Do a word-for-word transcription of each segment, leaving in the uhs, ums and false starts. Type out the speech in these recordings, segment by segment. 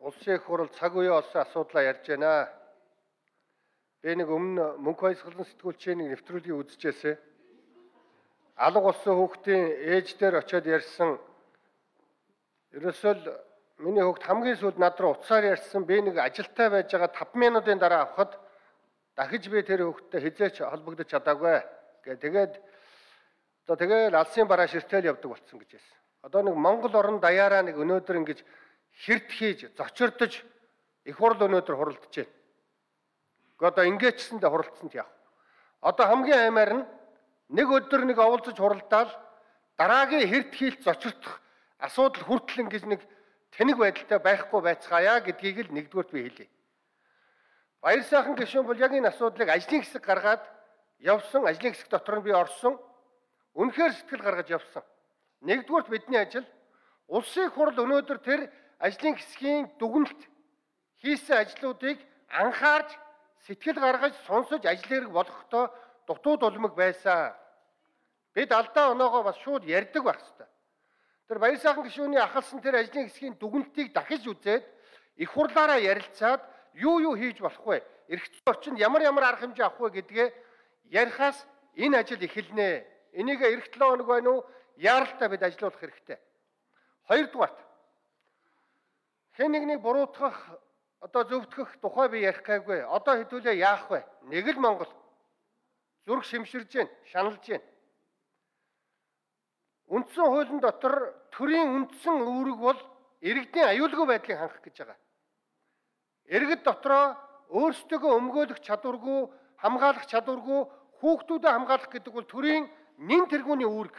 Улсын их хурал цаг үеийн олсон асуудлаа ярьж байна. Би нэг өмнө мөнх баясгалан сэтгүүлчийн нэг нэвтрүүлгийг үзчихээсэ. Алга болсон хүүхдийн ээж дээр очиод ярьсан. Ерөөсөө л миний хүүхд хамгийн сүүлд над руу уцаар ярьсан. Би нэг ажилтай байж байгаа таван минутын дараа авахад дахиж би тэр хүүхдтэй хизээч холбогдож чадаагүй гэ. Тэгээд одоо тэгээд алсын бараа ширтэл явдаг болсон гэж хэлсэн. Одоо нэг Монгол орн даяараа нэг өнөөдөр ингэж хэрт хийж зочирдож их хурл өнөөдөр хуралдаж байна. Гэхдээ одоо ингээчсэндээ хуралдсанд яах. Одоо хамгийн аймаар нь нэг өдөр нэг оволцож хуралдаал дараагийн хэрт хийлт зочирдох асуудал хүртэл ингэж нэг тэнэг байдалтай байхгүй байцгаая гэдгийг л нэгдүгээрт би хэлье. Баяр сайхан гишүүн бол яг энэ асуудлыг ажлын хэсэг гаргаад явсан, ажлын хэсэг дотор нь би орсон. Үнэхээр сэтгэл гаргаж явсан. Нэгдүгээрт бидний ажил улсын их хурл өнөөдөр тэр ажлын хэсгийн дүгнэлт хийсэн ажлуудыг анхаарч сэтгэл гаргаж сонсож ажил хэрэг болгохдоо дутууд улмаг байсан. Бид алдаа оноогоо бас шууд ярьдаг байх хэрэгтэй. Тэр баяр сайхан гишүүний ахалсан тэр ажлын хэсгийн дүгнэлтийг дахиж үзээд их хурлаараа ярилцаад юу юу хийж болох вэ? Эрх зүйн орчинд ямар ямар арга хэмжээ авах вэ гэдгээ ярихаас энэ ажил эхэлнэ. Энийг эх долоо хоног байна уу? Яаралтай бид ажиллах хэрэгтэй. Хоёрдугаарт хэн нэгнийг буруутгах одоо зөвтгөх тухай би ярих гайгүй. Одоо хэдүүлээ яах вэ? Нэг л Монгол зүрх шимширж байна, шаналж байна. Үндсэн хуулийн дотор төрийн үндсэн үүрэг бол иргэдийн аюулгүй байдлыг хангах гэж байгаа. Иргэд дотроо өөрсдөө өмгөөлөх чадваргүй, хамгаалах чадваргүй хүүхдүүдэд хамгаалах гэдэг бол төрийн нэн тэргүүний үүрэг.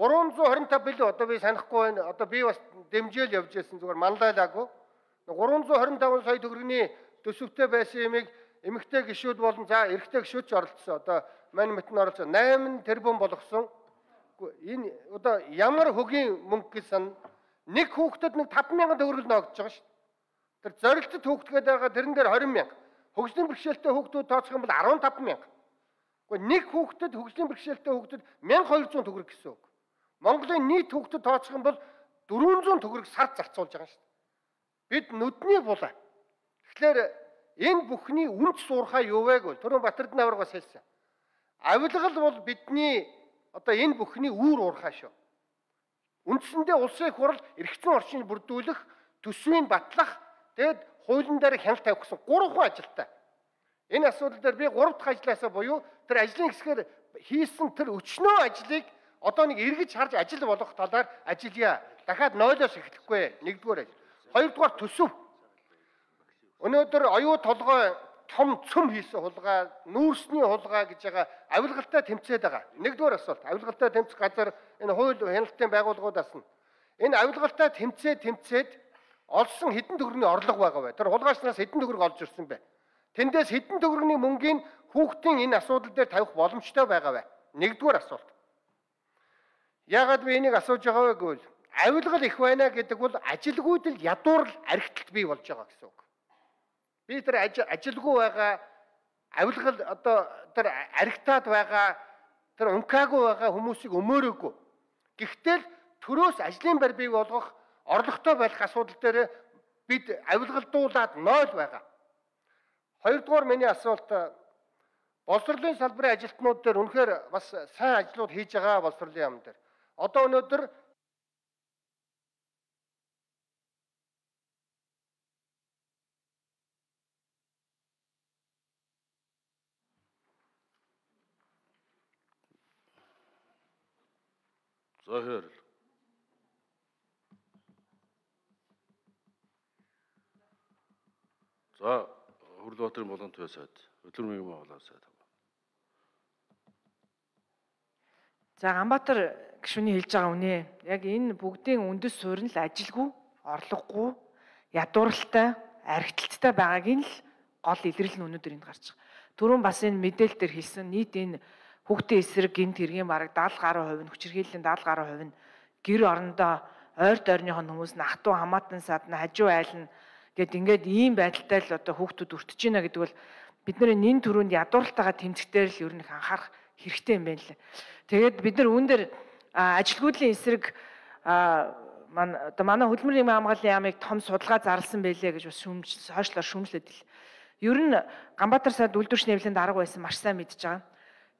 гурван зуун хорин тав билүү одоо би санахгүй байна. Одоо би бас дэмжээл явж байсан зүгээр манлайлаагүй. гурван зуун хорин таван сая төгрөгийн төсөвтэй байсан юмыг эмэгтэй гишүүд болон за эрэгтэй гишүүд ч оролцсон. Одоо мань мэтэн оролцсон. найман тэрбум болгосон. Энэ одоо ямар хөгийн мөнгө гэж сан нэг хүүхдэд нэг таван мянган төгрөг ногдож байгаа шүү. Тэр зорилттой хүүхдгээд байгаа тэрэн дээр хорин мянга. Хөгжлийн бэрхшээлтэй хүүхдүүд тооцох юм бол арван таван мянга. Гэхдээ нэг хүүхдэд хөгжлийн бэрхшээлтэй хүүхдэд мянга хоёр зуун төгрөг гэсэн үг. Монголын нийт хүүхдэд тооцох юм бол дөрвөн зуун төгрөг сард зарцуулж байгаа шүү. Бид нүдний булаа. Тэгэхээр энэ бүхний үнц суурхаа юу вэ гэвэл түрүүн Батэрдэн аварга бас хэлсэн. Авилгал бол бидний одоо энэ бүхний үүр уурхаа шүү. Үндсэндээ улсын их хурл эрх зүйн орчныг бүрдүүлэх, төсвийг батлах, тэгэд хуулийн дээр хяналт тавих гэсэн гурван ажилтай. Энэ асуудал дээр би гурав дахь ажлаасаа буюу тэр ажлын хэсгээр хийсэн тэр өчнөө ажлыг одоо нэг эргэж харж ажил болох талаар ажиллая. Дахиад нойлоос эхлэхгүй. Нэгдүгээр ажил. Хоёрдугаар төсөв. Өнөөдөр оюу толгой том цөм хийсэн хулгай, нүүрсний хулгай гэж байгаа авилгалтай тэмцээд байгаа. Нэгдүгээр асуулт. Авилгалтай тэмцэх газар энэ хууль хяналтын байгууллагуудаас нь энэ авилгалтай тэмцээд тэмцээд олсон хэдэн төгрөгийн орлого байгаа вэ? Тэр хулгайчнаас хэдэн төгрөг олж ирсэн бэ? Тэндээс хэдэн төгрөгийн мөнгийг хүүхдийн энэ асуудал дээр тавих боломжтой байгаа вэ? Нэгдүгээр асуулт. Яагаад би энийг асууж байгаа вэ гэвэл авилгал их байна гэдэг бол ажилгүйд л ядуурл архиталт бий болж байгаа гэсэн үг. Би тэр ажилгүй байгаа авилгал одоо тэр архитаад байгаа тэр ункаагүй байгаа хүмүүсийг өмөөрөөгүй. Гэхдээ төрөөс ажлын байр бий болгох орлоготой байх асуудал дээр бид авилгалдуулаад нойл байгаа. Хоёрдугаар миний асуулт боловсролын салбарын ажилтнууд дээр үнэхээр бас сайн ажлууд хийж байгаа боловсролын яам дээр. Одоо өнөөдөр Захир. За, Хурлбаатарын болон төв сайд, өдөр мөнгө байгууллага сайд. За Ганбаатар гишүүний хэлж байгаа үнэ. Яг энэ бүгдийн үндэс суурь нь л ажилгүй, орлогогүй, ядууралтай, архиталттай байгааг нь л гол илэрлэл нь өнөөдөр энд гарч байгаа. Түрүүн бас энэ мэдээлэл дээр хэлсэн нийт энэ хүүхдийн эсрэг гинт хэргийн бараг даатал гаруй хувь нь хүчирхийллийн даатал гаруй хувь нь гэр орондоо ойр дойрныхон хүмүүс нь хатуу хамаатан садна хажуу айл нь гэд ингээд ийм байдалтай л одоо хүүхдүүд өртөж байна гэдэг бол бидний нэн төрөнд ядууралтайгаа тэмцэхтэй л ер нь анхаарах хэрэгтэй юм байна лээ. Тэгээд бид нар үүн дээр ажилгүйдлийн эсрэг маань одоо манай хөдөлмөрийн нийгмийн хамгааллын яамыг том судалгаа зарласан байлээ гэж бас шүүмж хойшлоор шүүмжлээд ил. Ер нь Ганбаатар сайд үйлдвэрчний хэвлэлийн дарга байсан маш сайн мэдж байгаа.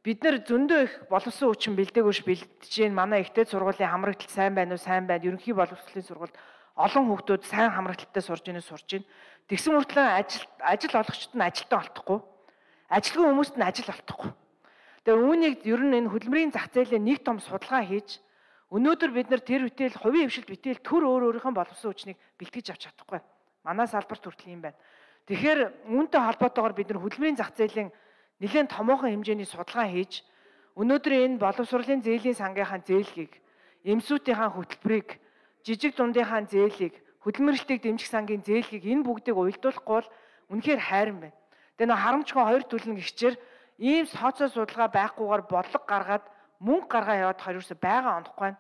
Бид нэр зөндөө их боловсон хүчин бэлдээгүйш бэлдэж гин манай ихтэй сургуулийн хамрагдлал сайн байна уу сайн байна. Ерөнхий боловсролын сургуульд олон хүүхдүүд сайн хамрагдлалтай сурж ийнэ сурж байна. Тэгсэн мөртлөө ажил ажил олгогчд нь ажилтаа олдохгүй. Ажилгүй хүмүүст нь ажил олдохгүй. Тэгээ үүнийг ер нь энэ хөдөлмөрийн зах зээлийн нэг том судалгаа хийж өнөөдөр бид нар тэр бүтээл хувийн хвшилт бүтээл төр өөр өөрийнхөө боловсон хүчнийг бэлтгэж авч чадахгүй. Манай салбарт хүртэл юм байна. Тэгэхээр үүнтэй холбоотойгоор бид нар хөдөлмөрийн зах зээлийн нэлээд томоохон хэмжээний судалгаа хийж өнөөдөр энэ боловсролын зээлийн сангийнхаа зээлгийг, эмсүүдийнхаа хөтөлбөрийг, жижиг дундынхаа зээлийг, хөдөлмөрлөлтийг дэмжих сангийн зээлгийг энэ бүгдийг уялдуулахгүй бол үнэхээр хайран байна. Тэгээ нэг харамчгүй хоёр төлөв гихчээр ийм тооцоо судалгаа байхгүйгээр бодлого гаргаад мөнгө гаргаа яваад хоёр юусе байгаа онохгүй.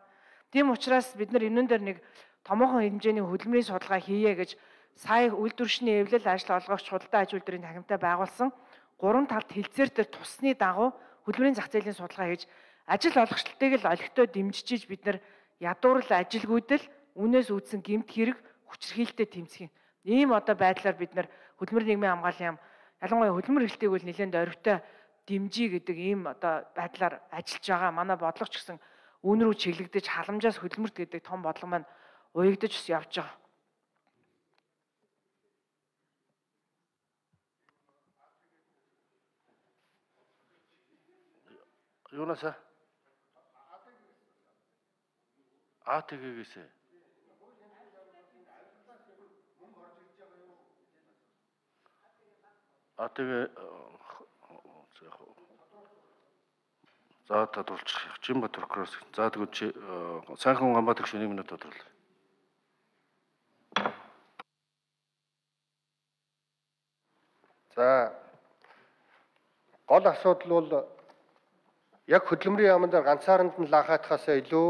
Тийм учраас бид нар энэн дээр нэг томоохон хэмжээний хөдөлмөрийн судалгаа хийе гэж сая үйлдвэрчний эвлэл ажил олгогч худалдаа аж үйлдвэрийн танхимтай байгуулсан гурван талт хилцээр дээр тусны дагуу хөдөлмөрийн зах зээлийн судалгаа хийж ажил олгогчдыг л олигтой дэмжиж бид нар ядуурл ажилгүйдэл үнээс үүдсэн гэмт хэрэг хүчирхийлэлтэд тэмцэх юм. Ийм одоо байдлаар бид нар хөдөлмөрийн нийгмийн хамгааллын яам ялангуяа хөдөлмөр эрхлэлтийг үл нэлээд оройтой дэмжиж гэдэг ийм одоо байдлаар ажиллаж байгаа. Манай бодлого ч гэсэн үүн рүү чиглэгдэж халамжаас хөдөлмөрт гэдэг том бодлого маань уягдаж бас явж байгаа. Юунасаа? А тэгээгээсээ. А тэгээ за тодруулчих. Жимбатар кросс. За тэгвэл чи сайхан Ганбаатар гишүүний минут тодруулъя. За гол асуудал бол яг хөдөлмөрийн яамн дээр ганцааранд нь лахаатахаас илүү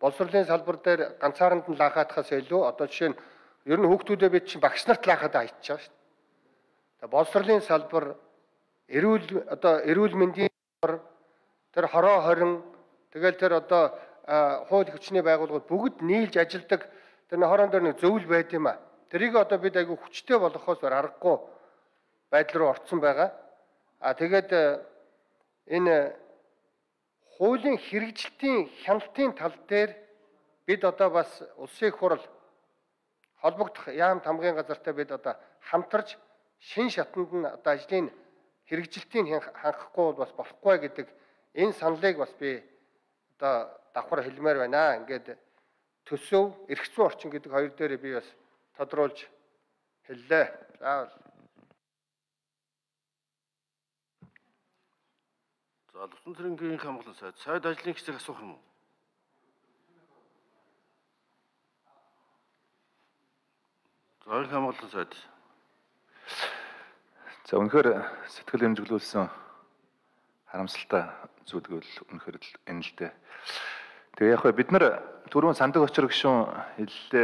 боловсролын салбар дээр ганцааранд нь лахаатахаас илүү одоо жишээ нь ер нь хүүхдүүдээ бид чинь багш нарт лахаад аячиж байгаа шүү дээ. Тэгээ боловсролын салбар, эрүүл одоо эрүүл мэндийн салбар, тэр хороо хорин тэгэл тэр одоо хууль хүчний байгууллагууд бүгд нийлж ажилладаг тэр хорон дээр нэг зөвлөл байд юм а. Тэрийг одоо бид айгүй хүчтэй болгохоос аргагүй байдал руу орцсон байгаа. А тэгээд энэ хуулийн хэрэгжилтийн хяналтын тал дээр бид одоо бас улсын их хурал холбогдох яамт хамгийн газартай бид одоо хамтарч шин шатанд нь одоо ажлын хэрэгжилтийг хангахгүй бол бас болохгүй гэдэг энэ саналыг бас би одоо давхар хэлмээр байна. Ингээд төсөв, эрх зүйн орчин гэдэг хоёр дээр би бас тодруулж хэллээ. Заавал. За Лувсан цэрэнгийн хамгаалалт сайд сайд ажлын хэсэг асуух юм уу? За хамгаалалт сайд. За үнэхээр сэтгэл хэмжиглүүлсэн харамсалтай зүйлгэл үнэхээр л энэ л дээ. Тэгээ яг бид нар түрүүн сандаг очир гишүүн хэллээ.